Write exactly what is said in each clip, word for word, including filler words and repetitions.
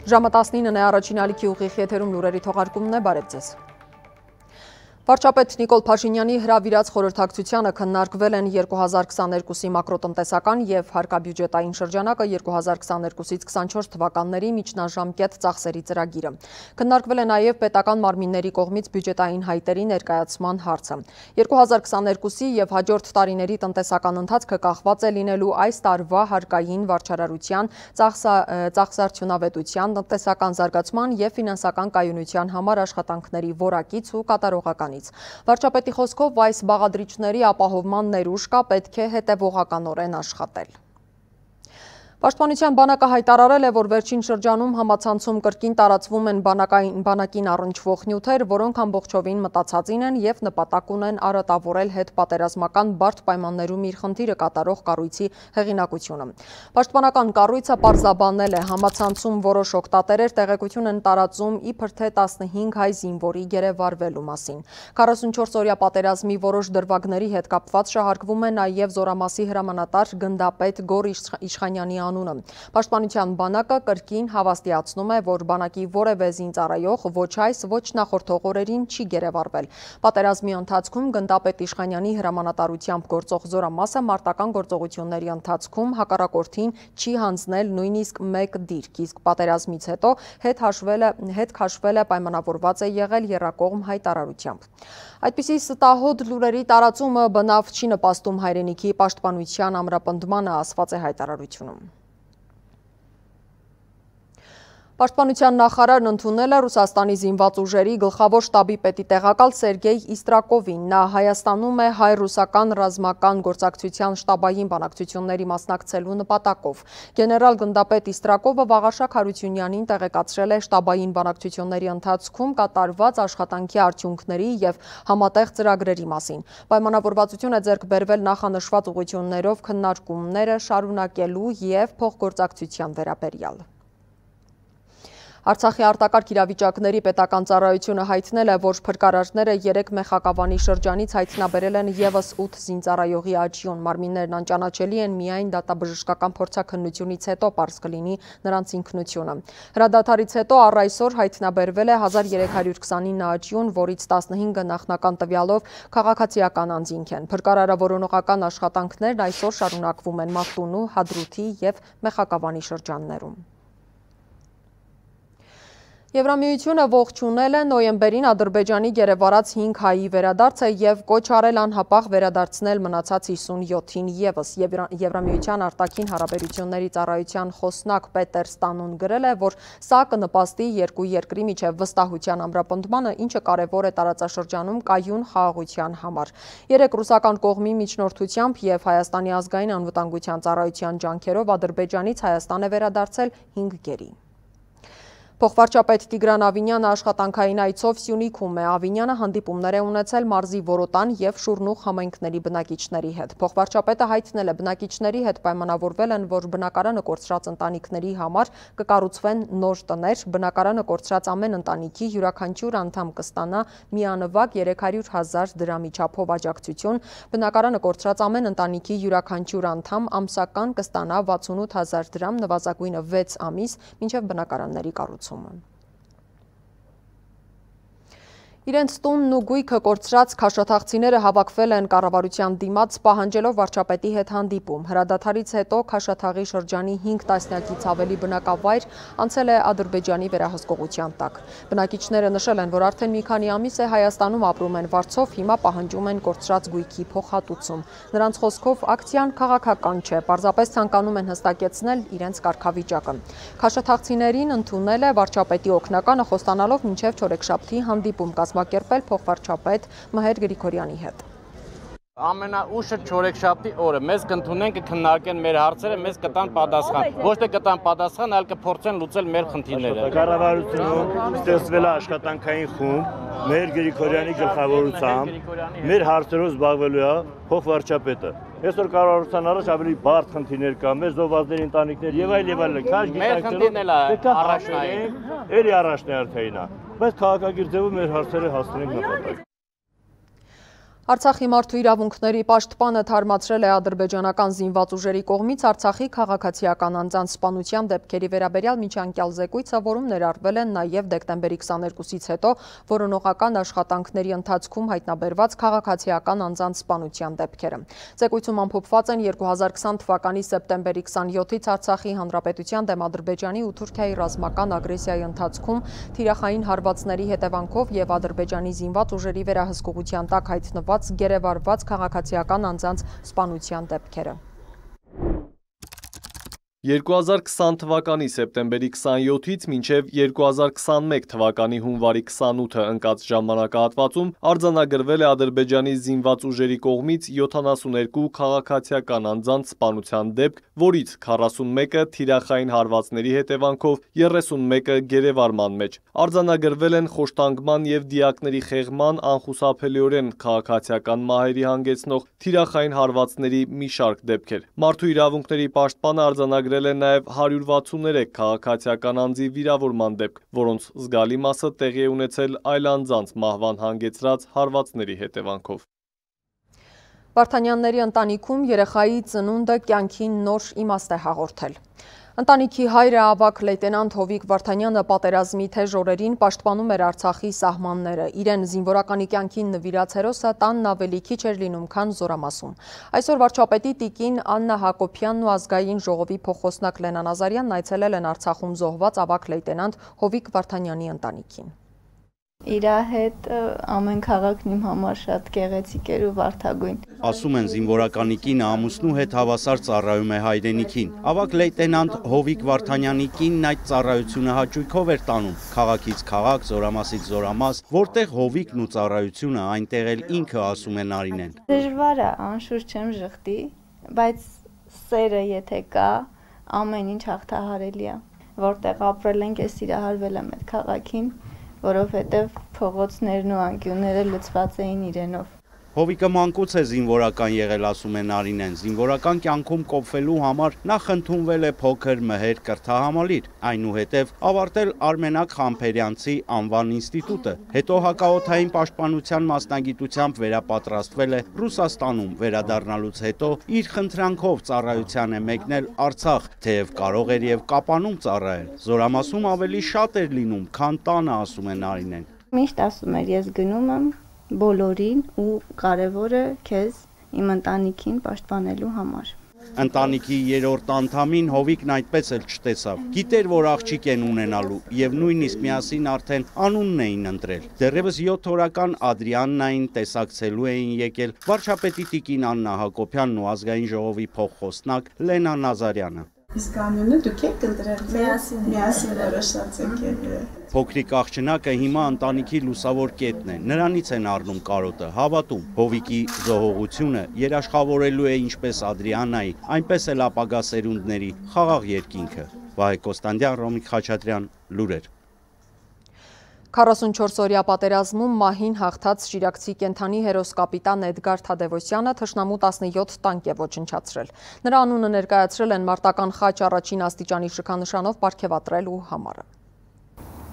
Ժամը տասնինն է, առաջին ալիքի ուղիղ եթերում լուրերի թողարկումն է, բարև ձեզ։ Վարչապետ Նիկոլ Փաշինյանի հրավիրած խորհրդակցությանը քննարկվել են երկու հազար քսաներկուսի մակրոտնտեսական և հարկաբյուջետային շրջանակը երկու հազար քսաներկուսից քսանչորս թվականների միջնաժամկետ ծախսերի ծրագիրը։ Քննարկվել է նաև պետական մարմինների կողմից բյուջետային հայտերի ներկայացման հարցը։ երկու հազար քսաներկուսի և հաջորդ տարիների տնտեսական ընթացքը կախված է լինելու այս տարվա հարկային վարչարարության, ծախսարդյունավետության, տնտեսական զարգացման և ֆինանսական կայունության համար աշխատանքների որակից ու կատարողականից։ Վարչապետի խոսքով այս բաղադրիչների ապահովման ներուժ կա, պետք է հետևողականորեն աշխատել։ Պաշտպանության բանակը հայտարարել է, որ վերջին շրջանում համացանցում կրկին տարածվում են բանակին առնչվող նյութեր, որոնք ամբողջովին մտածածին են և նպատակ ունեն արատավորել հետպատերազմական բարդ պայմաններում իր խնդիրը կատարող կառույցի հեղինակությունը։ Պաշտպանական կառույցը պարզաբանել է, համացանցում որոշ օգտատերեր տեղեկություն են տարածում իբր թե տասնհինգ հայ զինվորի գերեվարվելու մասին։ քառասունչորս օրյա պատերազմի որոշ դրվագների հետ կապված շահարկվում է նաև Զորամասի հրամանատար գնդապետ Գոր Իշխանյանի անունը։ Պաշտպանության բանակը կրկին հավաստիացնում է, որ բանակի որևէ զինծառայող ոչ այս, ոչ նախորդող օրերին չի գերեվարվել։ Պատերազմի ընթացքում գնդապետ Իշխանյանի հրամանատարությամբ գործող Զորամասը մարտական գործողությունների ընթացքում հակառակորդին չի հանձնել նույնիսկ մեկ դիրք, իսկ պատերազմից հետո հետ հաշվել է, հետ քաշվել է պայմանավորված է եղել եռակողմ հայտարարությամբ։ Այդպիսի ստահոդ լուրերի տարածումը բնավ չի նպաստում հայրենիքի պաշտպանության ամրապնդմանը, ասված է հայտարարությունում։ Պաշտպանության նախարարն ընդունել է Ռուսաստանի զինված ուժերի գլխավոր շտաբի պետի տեղակալ Սերգեյ Իստրակովին։ Նա Հայաստանում է հայ-ռուսական ռազմական գործակցության շտաբային բանակցությունների մասնակցելու նպատակով։ Գեներալ գնդապետ Իստրակովը Վաղարշակ Հարությունյանին տեղեկացրել է շտաբային բանակցությունների ընթացքում կատարված աշխատանքի արդյունքների և համատեղ ծրագրերի մասին։ Պայմանավորվածություն է ձեռք բերվել նախանշված ուղղություններով քննարկումները շարունակելու և փոխգործակցության վերաբերյալ։ Արցախի արտակարգ իրավիճակների պետական ծառայությունը հայտնել է, որ փրկարարները երեք մեխակավանի շրջանից հայտնաբերել են ևս ութ զինծառայողի աճյուն։ Մարմիններն անճանաչելի են միայն դատաբժշկական փորձաքննությունից հետո պարզ կլինի նրանց ինքնությունը։ Հրադադարից հետո առ այսօր հայտնաբերվել է հազար երեք հարյուր քսանինը աճյուն, որից տասնհինգը նախնական տվյալով քաղաքացիական անձինք են։ Փրկարարավորողական աշխատանքներն այսօր շարունակվում են Մարտունու, Հադրութի և Մեխակավանի շրջաններում։ Եվրամիությունը ողջունել է նոյեմբերին Ադրբեջանի գերեվարած հինգ հայի վերադարձը և կոչ արել անհապաղ վերադարձնել մնացած հիսունյոթին ևս։ Եվրամիության արտաքին հարաբերությունների ծառայության խոսնակ Պետեր Ստանոն գրել է, որ սա կնպաստի երկու երկրի միջև վստահության ամրապնդմանը, ինչը կարևոր է տարածաշրջանում կայուն խաղաղության համար։ Երեք ռուսական կողմի միջնորդությամբ և Հայաստանի ազգային անվտանգության ծառայության ջանքերով Ադրբեջանից Հայաստան է վերադարձել հինգ գերի։ Փոխվարչապետ Տիգրան Ավինյանը աշխատանքային այցով Սյունիքում է։ Ավինյանը հանդիպումներ է ունեցել մարզի Որոտան և Շուրնուղ համայնքների բնակիչների հետ։ Փոխվարչապետը հայտնել է, բնակիչների հետ պայմանավորվել են, որ բնակարանը կորցրած ընտանիքների համար կկառուցվեն նոր տներ, բնակարանը կորցրած ամեն ընտանիքի յուրաքանչյուր անդամ կստանա միանվագ երեք հարյուր հազար դրամի չափով աջակցություն, բնակարանը կորցրած ամեն ընտանիքի յուրաքանչյուր անդամ ամսական կստանա վաթսունութ հազար դրամ, նվազագույնը վեց ամիս, մինչև բնակարանների կառուցումը։ Իրենց տունն ու գույքը կորցրած քաշաթաղցիները հավաքվել են կառավարության դիմաց պահանջելով վարչապետի հետ հանդիպում։ Հրադադարից հետո Քաշաթաղի շրջանի հինգ տասնյակից ավելի բնակավայր անցել է Ադրբեջանի վերահսկողության տակ։ Բնակիչները նշել են, որ արդեն մի քանի ամիս է Հայաստանում ապրում են վարձով, հիմա պահանջում են կորցրած գույքի փոխհատուցում։ Նրանց խոսքով ակցիան քաղաքական չէ, պարզապես ցանկանում են հստակեցնել իրենց կարգավիճակը։ Քաշաթաղցիներին ընդունել է վարչապետի օգնականը, խոստանալով մինչև չորեքշաբթի հանդիպում կազմակերպել փոխվարչապետ Մհեր Գրիգորյանի հետ։ Ամենաուշը չորեքշաբթի օրը մեզ կընդունեն, կքննարկեն մեր հարցերը, մեզ կտան պատասխան։ Ոչ թե կտան պատասխան, այլ կփորձեն լուծել մեր խնդիրները։ Կառավարությունում ստեղծվել է աշխատանքային խումբ Մհեր Գրիգորյանի գլխավորությամբ, մեր հարցերով զբաղվելու է փոխվարչապետը։ Այսօր կառավարության առաջ ավելի բարդ խնդիրներ կա, մեր զոհվածների ընտանիքներ եւ այլ եւ այլ։ Մեր խնդիրն էլ է առաջնային, էլի առաջնահերթային է, բայց քաղաքագիր ձևով մեր հարցերը հասցնենք նպատակ։ Արցախի մարդու իրավունքների պաշտպանը թարմացրել է ադրբեջանական զինված ուժերի կողմից Արցախի քաղաքացիական անձանց սպանության դեպքերի վերաբերյալ միջանկյալ զեկույցը, որում ներառվել են նաև դեկտեմբերի քսաներկուսից հետո որոնողական աշխատանքների ընթացքում հայտնաբերված քաղաքացիական անձանց սպանության դեպքերը։ Զեկույցում ամփոփված են երկու հազար քսան թվականի սեպտեմբերի քսանյոթից Արցախի Հանրապետության դեմ Ադրբեջանի ու Թուրքիայի ռազմական ագրեսիայի ընթացքում թիրախային հարվածների հետևանքով եւ Ադրբեջանի զինված ուժերի վերահսկողության տակ հայտնված գերեվարված քաղաքացիական անձանց սպանության դեպքերը։ երկու հազար քսան թվականի սեպտեմբերի քսանյոթից մինչև երկու հազար քսանմեկ թվականի հունվարի քսանութը ընկած ժամանակահատվածում արձանագրվել է Ադրբեջանի զինված ուժերի կողմից յոթանասուներկու քաղաքացիական անձանց սպանության դեպք, որից քառասունմեկը թիրախային հարվածների հետևանքով, երեսունմեկը գերեվարման մեջ։ Արձանագրվել են խոշտանգման եւ դիակների խեղման, անխուսափելիորեն քաղաքացիական մահերի հանգեցնող թիրախային հարվածների մի շարք դեպքեր։ Մարդու իրավունքների պաշտպանը արձանագրել է նաև հարյուր վաթսուներեք քաղաքացիական անձի վիրավորման դեպք, որոնց զգալի մասը տեղի է ունեցել այլ անձանց մահվան հանգեցրած հարվածների հետևանքով։ Վարդանյանների ընտանիքում երեխայի ծնունդը կյանքին նոր իմաստ է հաղորդել։ Ընտանիքի հայրը ավագ լեյտենանտ Հովիկ Վարդանյանը պատերազմի թեժ օրերին պաշտպանում էր Արցախի սահմանները։ Իրեն զինվորականի կյանքին նվիրած հերոսը տանն ավելի քիչ էր լինում, քան Զորամասում։ Այսօր վարչապետի տիկին Աննա Հակոբյանն ու ազգային ժողովի փոխոսնակ Լենա Նազարյանն այցելել են Արցախում զոհված ավագ լեյտենանտ Հովիկ Վարդանյանի ընտանիքին։ Իր հետ ամեն քաղաքն իմ համար շատ գեղեցիկ էր ու վարդագույն։ Ասում են զինվորականի կինը ամուսնու հետ հավասար ծառայում է հայրենիքին։ Ավագ լեյտենանտ Հովիկ Վարդանյանի կինն այդ ծառայությունը հաճույքով էր տանում։ Քաղաքից քաղաք, Զորամասից Զորամաս, որտեղ Հովիկն ու ծառայությունը այնտեղ էլ ինքը ասում է Նարինեն։ Դժվար է, անշուշտ չեմ ժխտի, բայց սերը եթե կա, ամեն ինչ հաղթահարելի է։ Որտեղ ապրել ենք, ես սիրահարվել եմ այդ քաղաքին, որովհետև փողոցներն ու անկյունները լցված էին իրենով։ Հովիկը մանկուց է զինվորական եղել, ասում է Նարինեն։ Զինվորական կյանքում կոփվելու համար նախ ընդունվել է փոքր մհեր կրթահամալիր, այնուհետև ավարտել Արմենակ Խամփերյանցի անվան ինստիտուտը, հետո հակաօդային պաշտպանության մասնագիտությամբ վերապատրաստվել է Ռուսաստանում, վերադառնալուց հետո իր խնդրանքով ծառայության է մեկնել Արցախ, թեև կարող էր եւ Կապանում ծառայել։ Զորամասում ավելի շատ էր լինում, քան տանը, ասում է Նարինեն։ Միշտ ասում էր, ես գնում եմ բոլորին ու կարևորը քեզ իմ ընտանիքին պաշտպանելու համար։ Ընտանիքի երրորդ անդամին Հովիկն այդպես էլ չտեսավ։ Գիտեր, որ աղջիկ են ունենալու եւ նույնիսկ միասին արդեն անունն էին ընտրել։ Դեռևս յոթ օրական Ադրիաննային տեսակցելու էին եկել վարչապետի տիկին Աննա Հակոբյանն ու ազգային ժողովի փոխխոսնակ Լենա Նազարյանը։ Իսկ անունը դուք եք ընտրել, միասին միասին որոշացեք։ Փոքրիկ աղջնակը հիմա ընտանիքի լուսավոր կետն է, նրանից են առնում կարոտը, հավատում։ Հովիկի զոհողությունը երաշխավորելու է ինչպես Ադրիանայի, այնպես էլ ապագա սերունդների խաղաղ երկինքը։ Վահե Կոստանդյան, Ռոմիկ Խաչատրյան, լուրեր։ քառասունչորս-օրյա պատերազմում մահին հաղթած շիրակցի կենթանի հերոս կապիտան Էդգար Թադևոսյանը թշնամու տասնյոթ տանկ է ոչնչացրել։ Նրա անունը ներկայացրել են մարտական խաչ առաջին աստիճանի շքանշանով պարգևատրելու համարը։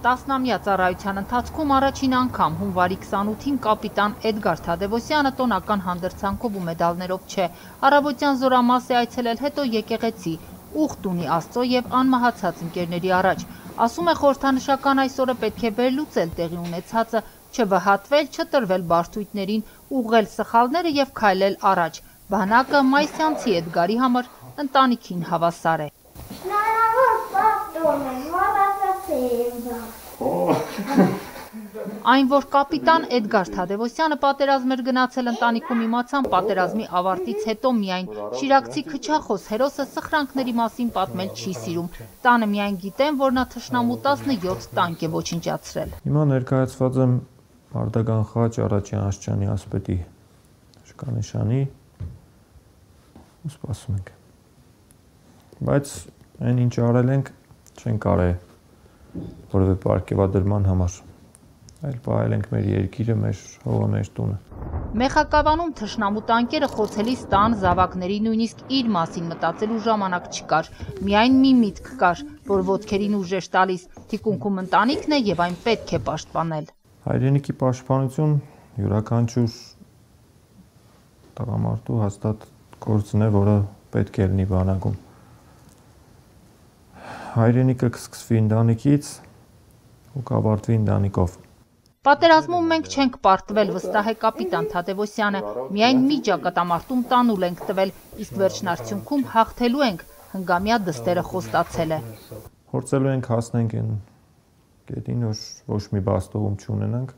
Տասնամյա ծառայության ընթացքում առաջին անգամ հունվարի քսանութին կապիտան Էդգար Թադևոսյանը տոնական հանդրձանքով ու մեդալներով չէ, առավոտյան Զորամաս է այցելել, հետո եկեղեցի, ուխտ ունի Աստծո եւ անմահացած ընկերների առաջ։ Ասում է խորհրդանշական այսօրը պետք է վերլուծել տեղի ունեցածը, չվհատվել, չտրվել բարդույթներին, ուղղել սխալները եւ քայլել առաջ։ Բանակը մայիսյանցի Էդգարի համար ընտանիքին հավասար է։ Այն, որ կապիտան Էդգար Թադևոսյանը պատերազմ էր գնացել, ընտանիքում իմացան պատերազմի ավարտից հետո միայն։ Շիրակցի քչախոս հերոսը սխրանքների մասին պատմել չի սիրում։ Տանը միայն գիտեն, որ նա թշնամու տասնյոթ տանկ է ոչնչացրել։ Հիմա ներկայացված եմ մարտական խաչ առաջին աստիճանի ասպետի շքանշանի ու սպասում ենք։ Բայց այն ինչ արել ենք, չենք արել որևէ պարգևադրման համար, այլ պահել ենք մեր երկիրը, մեր հողը, մեր տունը։ Մեխակավանում թշնամու տանկերը խոցելիս տան զավակների նույնիսկ իր մասին մտածելու ժամանակ չկար։ Միայն մի միտք կար, որ ոտքերին ուժ էր տալիս, թիկունքում ընտանիքն է եւ այն պետք է պաշտպանել։ Հայրենիքի պաշտպանություն յուրաքանչյուր տղամարդու հաստատ գործն է, որը պետք է լինի բանակում։ Հայրենիքը կսկսվի ընտանիքից ու կավարտվի ընտանիքով։ Պատերազմում մենք չենք պարտվել, վստահ է կապիտան Թադևոսյանը, միայն մի ճակատամարտում տանուլ ենք տվել, իսկ վերջնարդյունքում հաղթելու ենք, հնգամյա դստերը խոստացել է։ Փորձելու ենք հասնենք այն կետին, որ ոչ մի բաստողում չունենանք,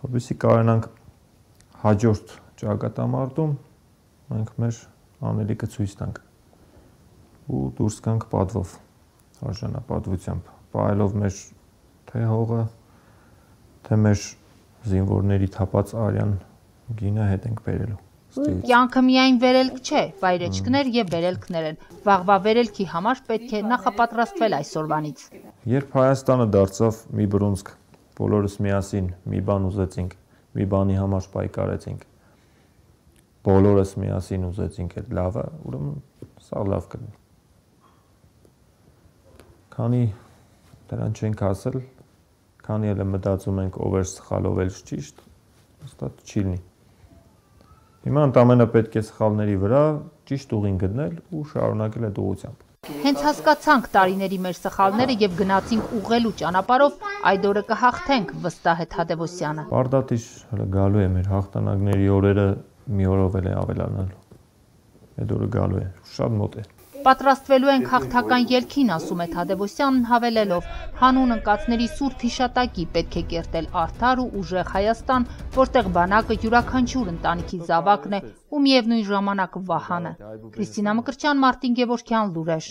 որպեսզի կարողանանք հաջորդ ճակատամարտում մենք մեր անելիքը ցույց տանք ու դուրս գանք պատվով, արժանապատվությամբ, պահելով մեր թե հողը, թե մեր զինվորների թափած արյան գինը հետ ենք բերելու։ Կյանքը միայն վերելք չէ, վայրեջքներ եւ վերելքներ են։ Վաղվա վերելքի համար պետք է նախապատրաստվել այսօրվանից։ Երբ Հայաստանը դարձավ մի բռունցք, բոլորս միասին մի բան ուզեցինք, մի բանի համար պայքարեցինք։ Բոլորս միասին ուզեցինք այդ լավը, ուրեմն սա լավ կլինի։ Քանի դրան չենք ասել, քանի էլ մտածում ենք ով էր սխալ, ով էր ճիշտ, հստակ չի լինի։ Հիմա ընդամենը պետք է սխալների վրա ճիշտ ուղին գտնել ու շարունակել այդ ուղղությամբ։ Հենց հասկացանք տարիների մեր սխալները եւ գնացինք ուղղելու ճանապարհով, այդ օրը կհաղթենք, վստահ է Թադևոսյանը։ Բարդատիժ հələ գալու է մեր հաղթանակների օրերը մի օրով էլ է ավելանալու։ Այդ օրը գալու է, շատ մոտ է։ Պատրաստվելու ենք հաղթական ելքին, ասում է Թադևոսյանն հավելելով, հանուն ընկածների սուրբ հիշատակի պետք է կերտել արդար ու ուժեղ Հայաստան, որտեղ բանակը յուրաքանչյուր ընտանիքի զավակն է ու միևնույն ժամանակ վահանը։ Քրիստինա Մկրտչյան, Մարտին Գևորգյան, Լուրեր։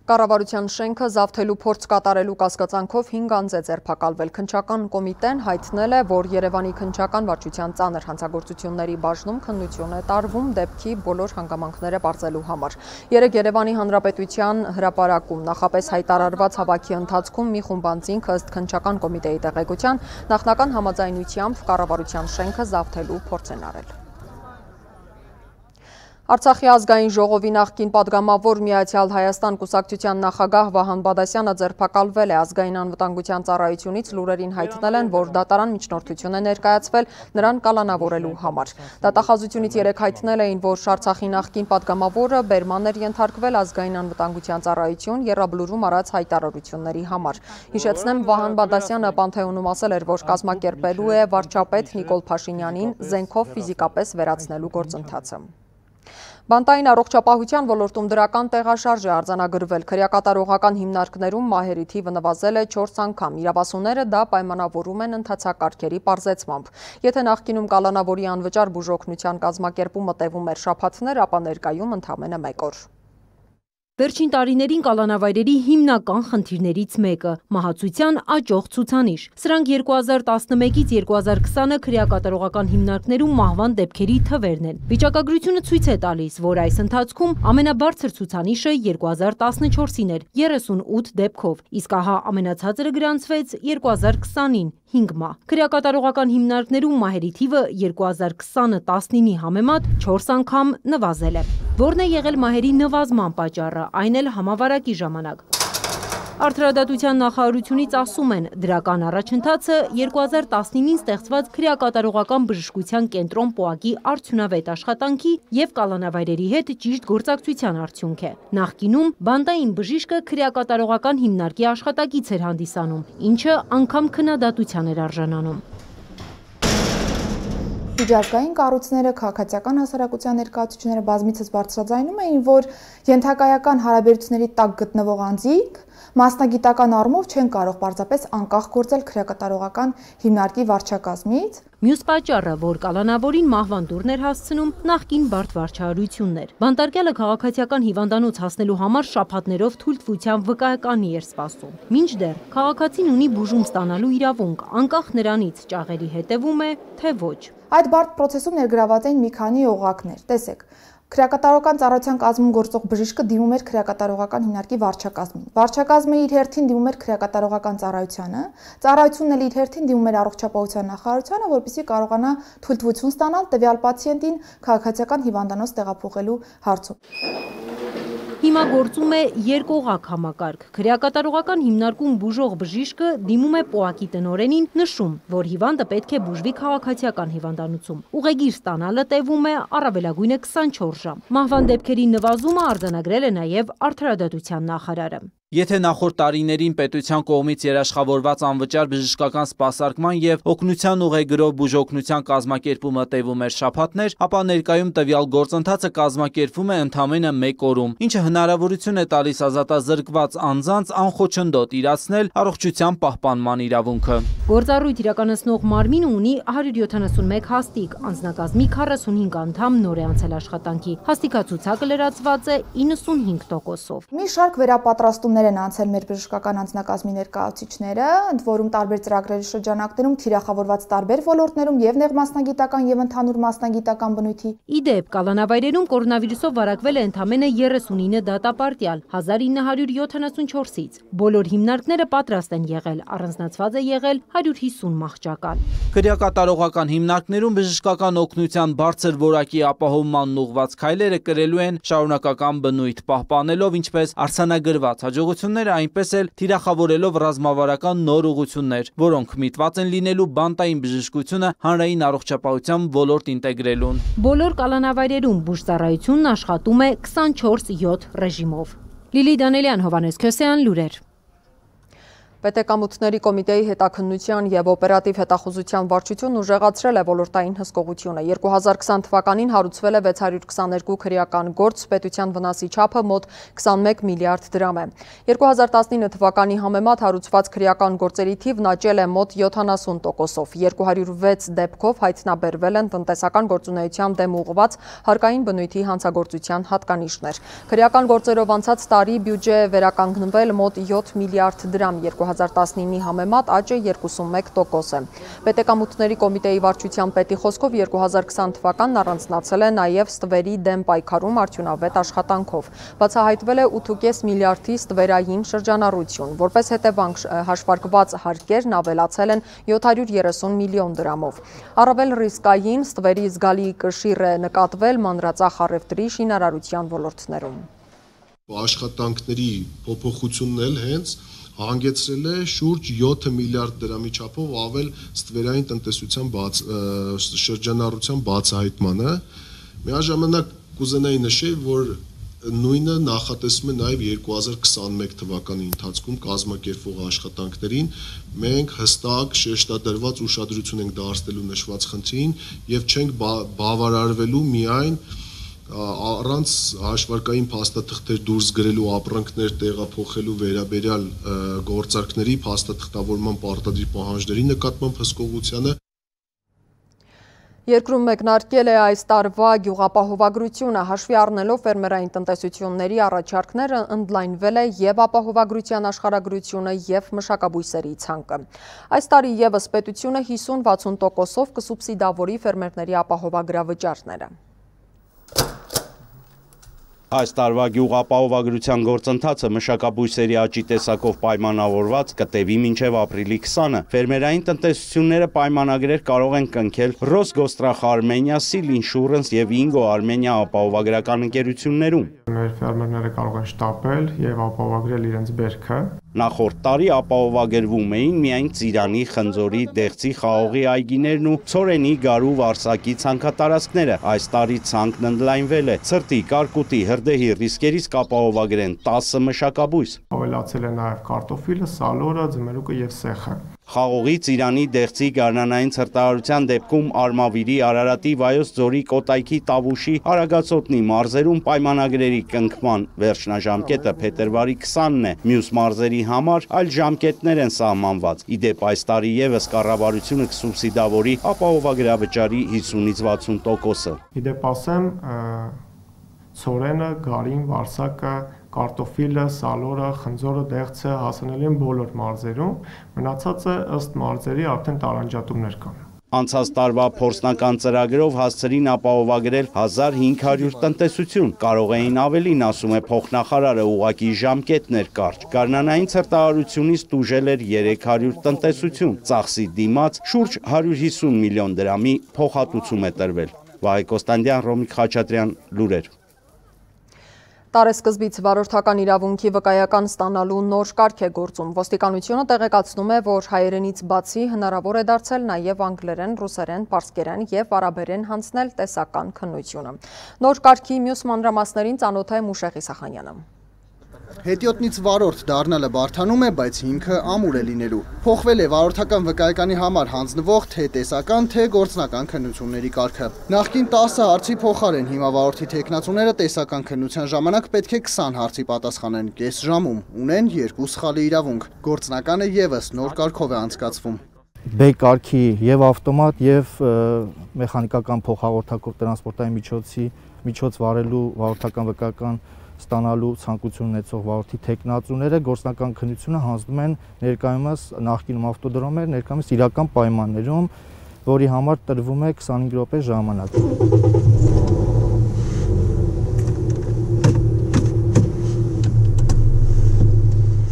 Կառավարության շենքը զավթելու փորձ կատարելու կասկածանքով հինգ անձ է ձերբակալվել։ Քննչական կոմիտեն հայտնել է, որ Երևանի քննչական վարչության ծանր հանցագործությունների բաժնում քննություն է տարվում դեպքի բոլոր հանգամանքները բարձելու համար։ Երեկ Երևանի Հանրապետության հրապարակում նախապես հայտարարված հավաքի ընթացքում մի խումբ անձինք ըստ քննչական կոմիտեի տեղեկության նախնական համաձայնությամբ կառավարության շենքը զավթելու փորձ են արել։ Արցախի ազգային ժողովի նախկին պատգամավոր Միացյալ Հայաստան կուսակցության նախագահ Վահան Բադասյանը ձերբակալվել է ազգային անվտանգության ծառայությունից լուրերին հայտնել են, որ դատարան միջնորդություն է ներկայացվել նրան կալանավորելու համար։ Դատախազությունից երեկ հայտնել էին, որ Արցախի նախկին պատգամավորը բերման էր ենթարկվել ազգային անվտանգության ծառայություն եռաբլուրում արած հայտարարությունների համար։ Հիշեցնեմ, Վահան Բադասյանը Պանթեոնում ասել էր, որ կազմակերպելու է վարչապետ Նիկոլ Փաշինյանին զենքով ֆիզիկապես վերացնելու գործընթացը։ Բանտային առողջապահության ոլորտում դրական տեղաշարժ է արձանագրվել։ Քրեակատարողական հիմնարկներում մահերի թիվը նվազել է չորս անգամ։ Իրավասուները դա պայմանավորում են ընթացակարգերի պարզեցմամբ։ Եթե նախկինում կալանավորի անվճար բուժօգնության կազմակերպումը տևում էր շաբաթներ, ապա ներկայում ընդամենը մեկ օր։ Վերջին տարիներին կալանավայրերի հիմնական խնդիրներից մեկը՝ մահացության աճող ցուցանիշ։ Սրանք երկու հազար տասնմեկից երկու հազար քսանը քրեակատարողական հիմնարկներում մահվան դեպքերի թվերն են։ Վիճակագրությունը ցույց է տալիս, որ այս ընթացքում ամենաբարձր ցուցանիշը երկու հազար տասնչորսին էր երեսունութ դեպքով, իսկ ահա ամենացածրը գրանցվեց երկու հազար քսանին հինգ մահ։ Քրեակատարողական հիմնարկներում մահերի թիվը երկու հազար քսանը տասնինի համեմատ չորս անգամ նվազել է։ Որն է եղել մահերի նվազման պատճառը, այն էլ համավարակի ժամանակ։ Արդարադատության նախարարությունից ասում են, դրական առաջընթացը երկու հազար տասնինին ստեղծված քրեակատարողական բժշկության կենտրոն ՊՕԱԿ-ի արդյունավետ աշխատանքի եւ կալանավայրերի հետ ճիշտ գործակցության արդյունք է։ Նախկինում բանտային բժիշկը քրեակատարողական հիմնարկի աշխատակից էր հանդիսանում, ինչը անգամ քննադատության էր արժանանում։ Միջազգային կառույցները, քաղաքացիական հասարակության ներկայացուցիչները բազմիցս բարձրաձայնում էին, որ ենթակայական հարաբերությունների տակ գտնվող անձիկ մասնագիտական առումով չեն կարող պարզապես անկախ գործել քրեակատարողական հիմնարկի վարչակազմից։ Մյուս պատճառը, որ կալանավորին մահվան դուրն էր հասցնում նախկին բարդ վարչարարությունն էր։ Բանտարկյալը քաղաքացիական հիվանդանոց հասնելու համար շաբաթներով թույլտվության վկայականի էր սպասում։ Մինչդեռ քաղաքացին ունի բուժում ստանալու իրավունք, անկախ նրանից ճաղերի հետևում է, թե ոչ։ Այդ բարդ պրոցեսում ներգրաված են մի քանի օղակներ։ Տեսեք, քրեակատարողական ծառայության կազմում գործող բժիշկը դիմում էր քրեակատարողական հիմնարկի վարչակազմին։ Վարչակազմը իր հերթին դիմում էր քրեակատարողական ծառայությանը, ծառայությունն էլ իր հերթին դիմում էր առողջապահության նախարարությանը, որպեսզի կարողանա թույլտվություն ստանալ տվյալ պացիենտին քաղաքացիական հիվանդանոց տեղափոխելու հարցում։ Հիմա գործում է երկօղակ համակարգ։ Քրեակատարողական հիմնարկում բուժող բժիշկը դիմում է պոակի տնօրենին, նշում, որ հիվանդը պետք է բուժվի քաղաքացիական հիվանդանոցում։ Ուղեգիր ստանալը տևում է առավելագույնը քսանչորս ժամ։ Մահվան դեպքերի նվազումը արձանագրել է նաև Արդարադատության նախարարը։ Եթե նախորդ տարիներին պետության կողմից երաշխավորված անվճար բժշկական սպասարկման եւ օգնության ուղեգրով բուժօգնության կազմակերպումը տևում էր շաբաթներ, ապա ներկայում տվյալ գործընթացը կազմակերպվում է ընդամենը մեկ օրում, ինչը հնարավորություն է տալիս ազատազրկված անձանց անխոչնդոտ իրացնել առողջության պահպանման իրավունքը։ Գործառույթ իրականացնող մարմինը ունի հարյուր յոթանասունմեկ հաստիկ, անձնակազմի քառասունհինգ անդամ նոր է անցել աշխատանքի։ Հաստիկացուցակը լրացված է իննսունհինգ տոկոսով։ Մի շարք վերապատրաստումներ են անցել մեր բժշկական անձնակազմի ներկայացուցիչները, ընդ որում տարբեր ծրագրերի շրջանակներում թիրախավորված տարբեր ոլորտներում եւ նեղմասնագիտական եւ ընդհանուր մասնագիտական բնույթի։ Ի դեպ, կալանավայրերում կորոնավիրուսով վարակվել է ընդամենը երեսունինը դատապարտյալ հազար ինը հարյուր յոթանասունչորսից։ Բոլոր հիմնարկները պատրաստ են եղել, առանձնացված է եղել հարյուր հիսուն մահճակալ։ Քրեակատարողական հիմնարկներում բժշկական օգնության բարձր որակի ապահովմանն ուղղված քայլերը կրելու են շարունակական բնույթ, պահպանելով ինչպես արձանագրված հաջողությունները, այնպես էլ թիրախավորելով ռազմավարական նոր ուղղություններ, որոնք միտված են լինելու բանտային բժշկությունը հանրային առողջապահության ոլորտ ինտեգրելուն։ Բոլոր կալանավայրերում բուժծառայությունն աշխատում է քսանչորս յոթ ռեժիմով։ Լիլի Դանելյան, Հովհաննես Քյոսեյան, լուրեր։ Պետեկամուտների կոմիտեի հետաքննության և օպերատիվ հետախուզության վարչությունն ուժեղացրել է ոլորտային հսկողությունը։ երկու հազար քսան թվականին հարուցվել է վեց հարյուր քսաներկու քրեական գործ, պետության վնասի չափը մոտ քսանմեկ միլիարդ դրամ է։ երկու հազար տասնինը թվականի համեմատ հարուցված քրեական գործերի թիվն աճել է մոտ յոթանասուն տոկոսով։ երկու հարյուր վեց դեպքով հայտնաբերվել են տնտեսական գործունեության դեմ ուղղված հարկային բնույթի հանցագործության հատկանիշներ։ Քրեական գործերով անցած տարի բյուջե վերականգնվել մոտ յոթ միլիարդ դրամ, երկու հազար տասնինի համեմատ աճը երկուսունմեկ տոկոս է։ Պետեկամուտների կոմիտեի վարչության պետի խոսքով երկու հազար քսան թվականն առանձնացել է նաև ստվերի դեմ պայքարում արդյունավետ աշխատանքով։ Բացահայտվել է ութ կես միլիարդի ստվերային շրջանառություն, որպես հետևանք հաշվարկված հարկերն ավելացել են յոթ հարյուր երեսուն միլիոն դրամով։ Առավել ռիսկային ստվերի զգալի կշիռ է նկատվել մանրածախ առևտրի, շինարարության ոլորտներում։ Աշխատանքների փոփոխությունն էլ հենց հանգեցրել է շուրջ յոթ միլիարդ դրամի չափով ավել ստվերային տնտեսության բաց, շրջանառության բացահայտմանը։ Միաժամանակ կուզենայի նշել, որ նույնը նախատեսում է նաև երկու հազար քսանմեկ թվականի ընթացքում կազմակերպվող աշխատանքներին։ Մենք հստակ շեշտադրված ուշադրություն ենք դարձնելու նշված խնդրին եւ չենք բավարարվելու միայն առանց հաշվարկային փաստաթղթեր դուրս գրելու, ապրանքներ տեղափոխելու վերաբերյալ գործարքների փաստաթղթավորման պարտադիր պահանջների նկատմամբ հսկողությանը։ Երկրում մեկնարկել է այս տարվա գյուղապահովագրությունը, հաշվի առնելով ֆերմերային տնտեսությունների առաջարկները, ընդլայնվել է եւ ապահովագրության աշխարհագրությունը եւ մշակաբույսերի ցանկը։ Այս տարի եւս պետությունը հիսուն վաթսուն տոկոսով կսուբսիդավորի ֆերմերների ապահովագրավճարները։ Այս տարվա գյուղապահովագրության գործընթացը մշակաբույսերի աճի տեսակով պայմանավորված կտևի մինչև ապրիլի քսանը։ Ֆերմերային տնտեսությունները պայմանագրեր կարող են կնքել Ռոսգոստրախ Արմենիա, Սիլ Ինշուրենս եւ Ինգո Արմենիա ապահովագրական ընկերություններում։ Մեր ֆերմերները կարող են շտապել եւ ապահովագրել իրենց բերքը։ Նախորդ տարի ապահովագրվում էին միայն Ծիրանի, Խնձորի, Դեղցի, Խաղողի այգիներն ու Ցորենի, Գարու, Վարսակի ցանքատարածքները։ Այս տարի ցանկն ընդլայնվել է։ Ցրտի, Կարկուտի, Հրդեհի ռիսկերից կապահովագրեն տասը մշակաբույս։ Ավելացել է նաև կարտոֆիլը, սալորը, ձմերուկը եւ սեխը։ Խաղողի, Ծիրանի, Դեղցի, Գարնանային ցրտարարության դեպքում Արմավիրի, Արարատի, Վայոց ձորի, Կոտայքի, Տավուշի, Արագածոտնի մարզերում պայմանագրերի կնքման վերջնաժամկետը փետրվարի քսանն է։ Մյուս մարզերի համար այլ ժամկետներ են սահմանված։ Ի դեպ այս տարի եւս կառավարությունը կսուբսիդավորի ապահովագրավճարի հիսունից վաթսուն տոկոսը։ Ի դեպ ասեմ, ցորենը, գարին, վարսակը, կարտոֆիլը, սալորը, խնձորը, դեղցը հասանելի են բոլոր մարզերում, մնացածը ըստ մարզերի արդեն տարանջատումներ կան։ Անցած տարվա փորձնական ծրագրով հասցրին ապահովագրել հազար հինգ հարյուր տնտեսություն։ Կարող էին ավելին, ասում է փոխնախարարը, ուղղակի ժամկետներ կարճ։ Գարնանային ցրտարարությունից տուժել էր երեք հարյուր տնտեսություն։ Ծախսի դիմաց շուրջ հարյուր հիսուն միլիոն դրամի փոխհատուցում է տրվել։ Վահե Կոստանդյան, Ռոմիկ Խաչատրյան, լուրեր։ Տարեսկզբից վարորդական իրավունքի վկայական ստանալու նոր կարգ է գործում։ Ոստիկանությունը տեղեկացնում է, որ հայերենից բացի հնարավոր է դարձել նաև անգլերեն, ռուսերեն, պարսկերեն և արաբերեն հանձնել տեսական քննությունը։ Նոր կարգի մյուս մանրամասներին ծանոթ է Մուշեղի Սախանյանը։ Հետիոտնից վարորդ դառնալը բարդանում է, բայց հիմքը ամուր է լինելու։ Փոխվել է վարորդական վկայականի համար հանձնվող թե տեսական, թե գործնական քննությունների կարգը։ Նախկին տասը հարցի փոխարեն հիմա վարորդի թեկնածուները տեսական քննության ժամանակ պետք է քսան հարցի պատասխանեն կես ժամում, ունեն երկու սխալի իրավունք։ Գործնականը ևս նոր կարգով է անցկացվում։ B կարգի եւ ավտոմատ եւ մեխանիկական փոխհաղորդակով տրանսպորտային միջոցի միջոց վարելու վարորդական վկայական ստանալու ցանկություն ունեցող վարորդի թեկնածուները գործնական քննությունը հանձնում են ներկայումս նախկինում ավտոդրոմ էր, ներկայումս իրական պայմաններում, որի համար տրվում է քսանհինգ րոպե ժամանակ։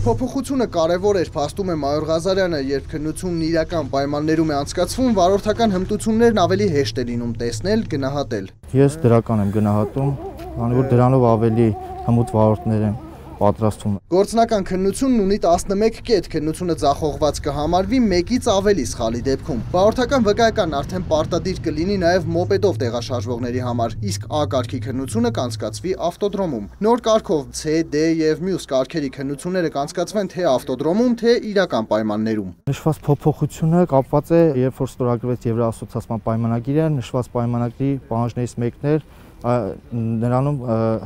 Փոփոխությունը կարևոր էր, փաստում է Մայոր Ղազարյանը, երբ քննությունն իրական պայմաններում է անցկացվում, վարորդական հմտություններն ավելի հեշտ է լինում տեսնել, գնահատել։ Ես դրական եմ գնահատում, քանի որ դրանով ավելի հմուտ վարորդներ են պատրաստվում։ Գործնական քննությունն ունի տասնմեկ կետ, քննությունը ձախողված կհամարվի մեկից ավելի սխալի դեպքում։ Վարորդական վկայականն արդեն պարտադիր կլինի նաև մոպեդով տեղաշարժվողների համար, իսկ A կարգի քննությունը կանցկացվի ավտոդրոմում։ Նոր կարգով C, D եւ մյուս կարգերի քննությունները կանցկացվեն թե ավտոդրոմում, թե իրական պայմաններում։ Նշված փոփոխությունը կապված է, երբ որ ստորագրվեց Եվրոասոցիացիան պայմանագիրը, նշված պայմանագրի պահանջներից մեկն էր նրանում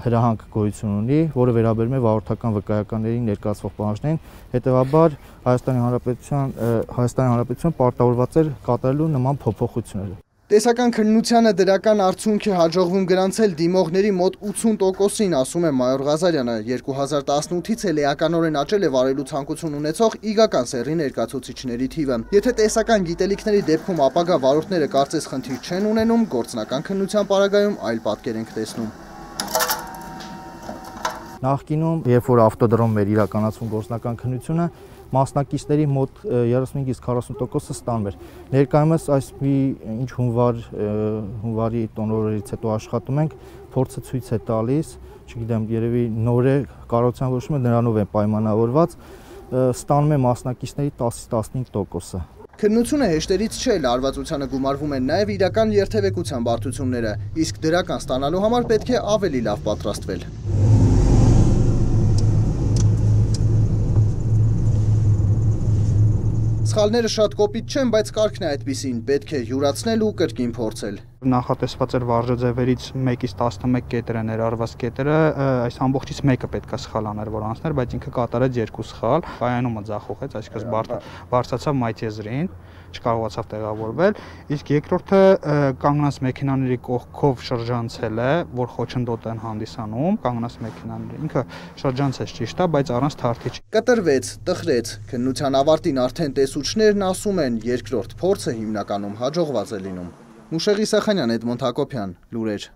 հրահանգ գոյություն ունի, որը վերաբերում է վարորդական վկայականների ներկայացվող պահանջներին, հետևաբար Հայաստանի Հանրապետության Հայաստանի Հանրապետությունը պարտավորված էր կատարելու նման փոփոխությունները։ Տեսական քննությանը դրական արդյունք է հաջողվում գրանցել դիմողների մոտ ութսուն տոկոսին, ասում է Մայոր Ղազարյանը։ երկու հազար տասնութից էլ էականորեն աճել է վարելու ցանկություն ունեցող իգական սեռի ներկայացուցիչների թիվը։ Եթե տեսական գիտելիքների դեպքում ապագա վարորդները կարծես խնդիր չեն ունենում, գործնական քննության պարագայում այլ պատկեր ենք տեսնում։ Նախկինում, երբ որ ավտոդրոմում էր իրականացվում գործնական քննությունը, մասնակիցների մոտ երեսունհինգից քառասուն տոկոսը ստանում էր։ Ներկայումս այս մի ինչ հունվար հունվարի տոնորից հետո աշխատում ենք, փորձը ցույց է տալիս, չգիտեմ, երևի նոր է կառավարության որոշումը նրանով է պայմանավորված, ստանում է մասնակիցների տասից տասնհինգ տոկոսը։ Քննությունը հեշտերից չէ, լարվածությանը գումարվում են նաև իրական երթևեկության բարդությունները, իսկ դրական ստանալու համար պետք է ավելի լավ պատրաստվել։ Սխալները շատ կոպիտ չեն, բայց կարգն է այդպիսին, պետք է յուրացնել ու կրկին փորձել։ Նախատեսված էր վարժաձևերից մեկից տասնմեկ կետերը ներառված կետերը, այս ամբողջից մեկը պետք է սխալ աներ, որ անցներ, բայց ինքը կատարեց երկու սխալ, կայանումը ձախողեց, այսինքն բարձրացավ մայթեզրին, չկարողացավ տեղավորվել, իսկ երկրորդը կանգնած մեքենաների կողքով շրջանցել է, որ խոչընդոտ են հանդիսանում, կանգնած մեքենաների, ինքը շրջանցեց ճիշտ է, բայց առանց թարթիչ։ Կտրվեց, տխրեց, քննության ավարտին արդեն տեսուչներն ասում են, երկրորդ փորձը հիմնականում հաջողված է լինում։ Մուշեղի Սախանյան, Էդմոնդ Հակոբյան, լուրեր։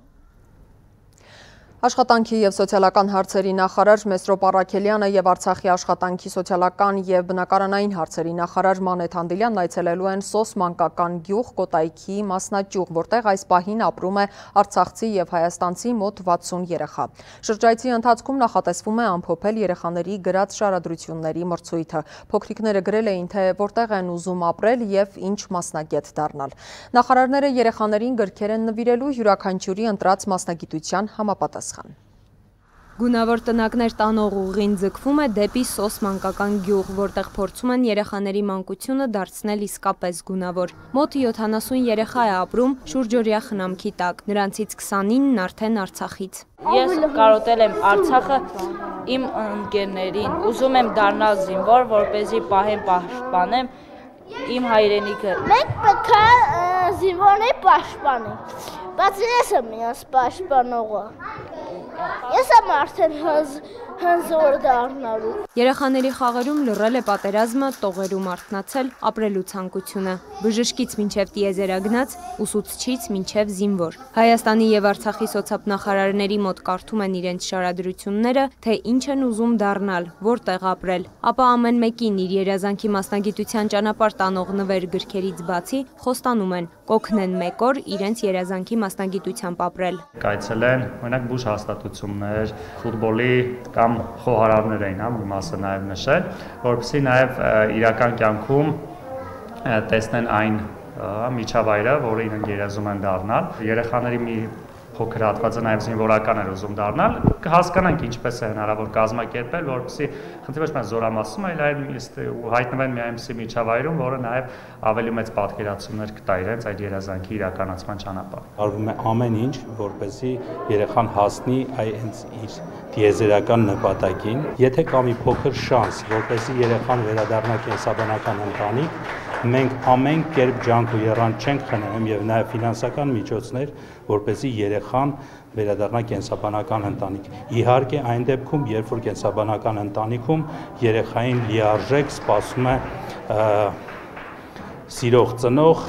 Աշխատանքի և սոցիալական հարցերի նախարար Մեսրոպ Առաքելյանը և Արցախի աշխատանքի սոցիալական և բնակարանային հարցերի նախարար Մանեթ Հանդիլյանն այցելելու են Սոս մանկական գյուղ Կոտայքի մասնաճյուղ, որտեղ այս պահին ապրում է արցախցի և հայաստանցի մոտ վաթսուն երեխա։ Շրջայցի ընթացքում նախատեսվում է ամփոփել երեխաների գրած շարադրությունների մրցույթը։ Փոքրիկները գրել էին, թե որտեղ են ուզում ապրել և ինչ մասնագետ դառնալ։ Նախարարները երեխաներին գրքեր են նվիրելու յուրաքանչյուրի ընտրած մասնագիտության համապատասխան։ Գունավոր տնակներ տանող ուղին ձգվում է դեպի Սոս մանկական գյուղ, որտեղ փորձում են երեխաների մանկությունը դարձնել իսկապես գունավոր։ Մոտ յոթանասուն երեխա է ապրում շուրջօրյա խնամքի տակ, նրանցից քսանինն արդեն Արցախից։ Ես կարոտել եմ Արցախը իմ ընկերներին, ուզում եմ դառնալ զինվոր, որպեսզի պահեմ պաշտպանեմ իմ հայրենիքը։ Մենք պետք է զինվորների պաշտպանենք, բայց ես եմ իրենց պաշտպանողը։ Ես եմ արդեն հնզոր դառնալու։ Երեխաների խաղերում լռել է պատերազմը, տողերում արթնացել ապրելու ցանկությունը։ Բժշկից մինչև տիեզերագնաց, ուսուցչից մինչև զինվոր։ Հայաստանի եւ Արցախի սոցիալնախարարների մոտ կարդում են իրենց շարադրությունները, թե ինչ են ուզում դառնալ, որտեղ ապրել։ Ապա ամեն մեկին իր երազանքի մասնագիտության ճանապարհ տանող նվեր գրքերից բացի խոստանում են կօգնեն մեկ օր իրենց երազանքի մասնագիտությամբ ապրել։ Կայցել են օրինակ բուժ հաստատություններ, ֆուտբոլի կամ խոհարարներ էին, հա, մի մասը նաև նշել, որովհետեւ նաև իրական կյանքում տեսնեն այն միջավայրը, որը իրենք երազում են դառնալ։ Երեխաների մի փոքր հատվածը նաև զինվորական էր ուզում դառնալ, կհասկանանք ինչպես է հնարավոր կազմակերպել, որովհետեւ խնդիրը ոչ միայն զորամասում է, այլ հայտնվեն մի այնպիսի միջավայրում, որը նաև ավելի մեծ պատկերացումներ կտա իրենց այդ երազանքի իրականացման ճանապարհ։ Արվում է ամեն ինչ, որպեսզի երեխան հասնի այս իր տիեզերական նպատակին։ Եթե կա մի փոքր շանս, որպեսզի երեխան վերադառնա կենսաբանական ընտանիք, մենք ամեն կերպ ջանք ու եռանդ չենք խնայում եւ նաեւ ֆինանսական միջոցներ, որպեսզի երեխան վերադառնա կենսաբանական ընտանիք։ Իհարկե, այն դեպքում, երբ որ կենսաբանական ընտանիքում երեխային լիարժեք սպասում է սիրող ծնող,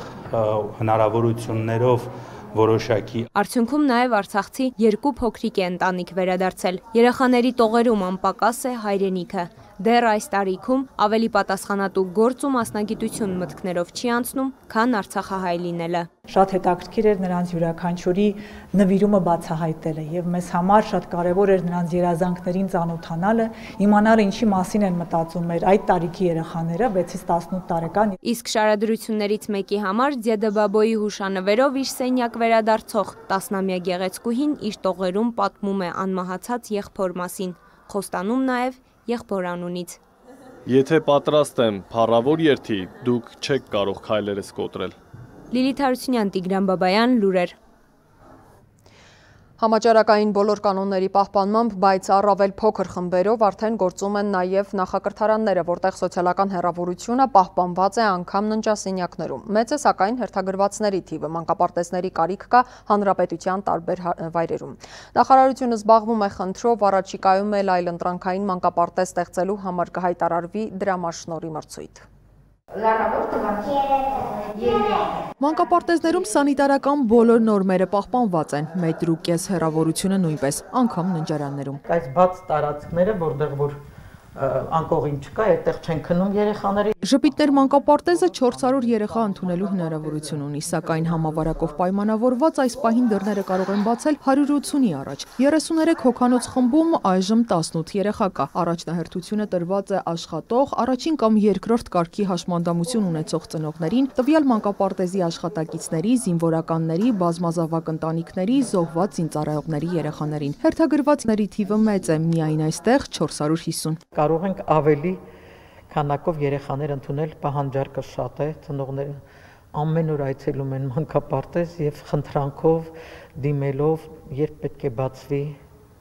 հնարավորություններով որոշակի։ Արդյունքում նաև արցախցի երկու փոքրիկ է ընտանիք վերադարձել։ Երեխաների տողերում անպակաս է հայրենիքը։ Դեռ այս տարիքում ավելի պատասխանատու գործ ու մասնագիտություն մտքներով չի անցնում, քան արցախահայ լինելը։ Շատ հետաքրքիր էր նրանց յուրաքանչյուրի նվիրումը բացահայտելը եւ մեզ համար շատ կարեւոր էր նրանց երազանքներին ծանոթանալը, իմանալ ինչի մասին են մտածում մեր այդ տարիքի երեխաները վեցից տասնութ տարեկան։ Իսկ շարադրություններից մեկի համար Ձեդեբաբոյի հուշանվերով իր սենյակ վերադարձող տասնամյա գեղեցկուհին իր տողերում պատմում է անմահացած եղբոր մասին, խոստանում նաև եղբոր անունից։ Եթե պատրաստ եմ փառավոր երթի, դուք չեք կարող քայլերս կոտրել։ Լիլիթ Հարությունյան, Տիգրան Բաբայան, լուրեր։ Համաճարակային բոլոր կանոնների պահպանմամբ, բայց առավել փոքր խմբերով արդեն գործում են նաև նախակրթարանները, որտեղ սոցիալական հեռավորությունը պահպանված է անգամ ննջասենյակներում։ Մեծ է սակայն հերթագրվածների թիվը, մանկապարտեզների կարիք կա հանրապետության տարբեր վայրերում։ Նախարարությունը զբաղվում է խնդրով, առաջիկայում էլ այլընտրանքային մանկապարտեզ ստեղծելու համար կհայտարարվի դրամաշնորհի մրցույթ։ Մանկապարտեզներում սանիտարական բոլոր նորմերը պահպանված են, մետր ու կես հեռավորությունը նույնպես, անգամ ննջարաններում։ Այս բաց տարածքները, որտեղ որ անկողին չկա, այդտեղ չեն քնում երեխաները։ Ժպիտներ մանկապարտեզը չորս հարյուր երեխա ընդունելու հնարավորություն ունի, սակայն համավարակով պայմանավորված այս պահին դռները կարող են բացել հարյուր ութունի առաջ։ երեսուներեք հոգանոց խմբում այժմ տասնութ երեխա կա։ Առաջնահերթությունը տրված է աշխատող, առաջին կամ երկրորդ կարգի հաշմանդամություն ունեցող ծնողներին, տվյալ մանկապարտեզի աշխատակիցների, զինվորականների, բազմազավակ ընտանիքների, զոհված զինծառայողների երեխաներին։ Հերթագրվածների թիվը մեծ է, միայն այստեղ չորս հարյուր հիսուն։ Կարող ենք ավելի քանակով երեխաներ ընդունել, պահանջարկը շատ է, ծնողները ամեն օր այցելում են մանկապարտեզ եւ խնդրանքով դիմելով, երբ պետք է բացվի,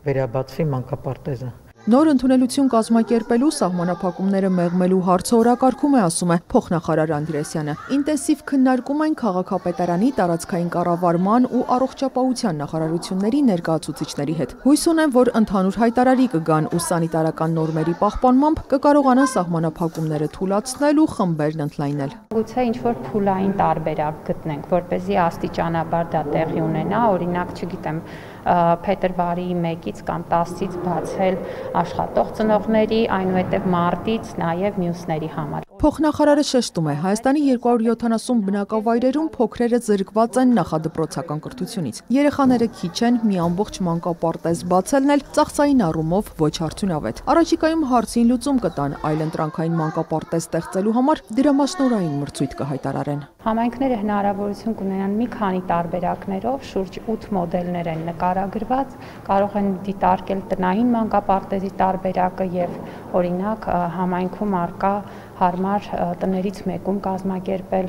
վերաբացվի մանկապարտեզը։ Նոր ընդունելություն կազմակերպելու սահմանափակումները մեղմելու հարցը օրակարգում է, ասում է փոխնախարար Անդրեասյանը։ Ինտենսիվ քննարկում են քաղաքապետարանի, տարածքային կառավարման ու առողջապահության նախարարությունների ներկայացուցիչների հետ։ Հույս ունեն, որ ընդհանուր հայտարարի կգան ու սանիտարական նորմերի պահպանմամբ կկարողանան սահմանափակումները թույլատրել ու խմբերն ընդլայնել։ Գուցե ինչ-որ փուլային տարբերակ գտնենք, որպեսզի աստիճանաբար դա տեղի ունենա, օրինակ, չգիտեմ, փետրվարի մեկից կամ տասից բացել աշխատող ծնողների, այնուհետև մարտից նաև մյուսների համար։ Փոխնախարարը շեշտում է, Հայաստանի երկու հարյուր յոթանասուն բնակավայրերում փոքրերը զրկված են նախադպրոցական կրթությունից։ Երեխաները քիչ են, մի ամբողջ մանկապարտեզ բացելն էլ ծախսային առումով ոչ արդյունավետ։ Առաջիկայում հարցին լուծում կտան, այլընտրանքային մանկապարտեզ ստեղծելու համար դրամաշնորհային մրցույթ կհայտարարեն։ Համայնքները հնարավորություն կունենան մի քանի տարբերակներով, շուրջ ութ մոդելներ են նկարագրված, կարող են դիտարկել տնային մանկապարտեզի տարբերակը եւ օրինակ համայնքում արկա հարմար տներից մեկում կազմակերպել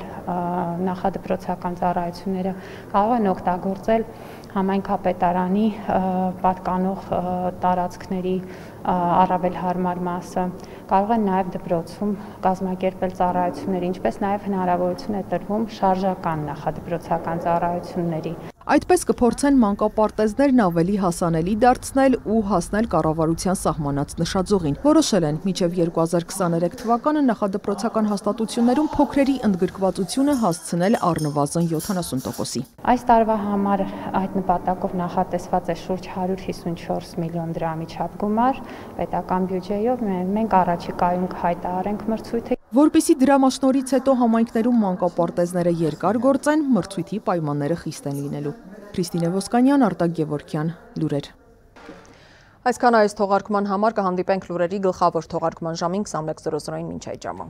նախադպրոցական ծառայությունները, կարող են օգտագործել համայնքապետարանի պատկանող տարածքների առավել հարմար մասը, կարող են նաև դպրոցում կազմակերպել ծառայություններ, ինչպես նաև հնարավորություն է տրվում շարժական նախադպրոցական ծառայությունների։ Այդպես կփորձեն մանկապարտեզներն ավելի հասանելի դարձնել ու հասնել կառավարության սահմանած նշաձողին։ Որոշել են մինչև երկու հազար քսաներեք թվականը նախադպրոցական հաստատություններում փոքրերի ընդգրկվածությունը հասցնել առնվազն յոթանասուն տոկոսի։ Այս տարվա համար այդ նպատակով նախատեսված է շուրջ հարյուր հիսունչորս միլիոն դրամի չափ գումար պետական բյուջեով։ Մենք առաջիկայում կհայտարարենք մրցույթը։ Որպեսզի դրամաշնորհից հետո համայնքներում մանկապարտեզները երկար գործեն, մրցույթի պայմանները խիստ են լինելու։ Քրիստինե Ոսկանյան, Արտակ Գևորգյան, լուրեր։ Այսքան այս թողարկման համար կհանդիպենք լուրերի գլխավոր թողարկման ժամին քսանմեկ զրո զրոին մինչ այդ ժամը։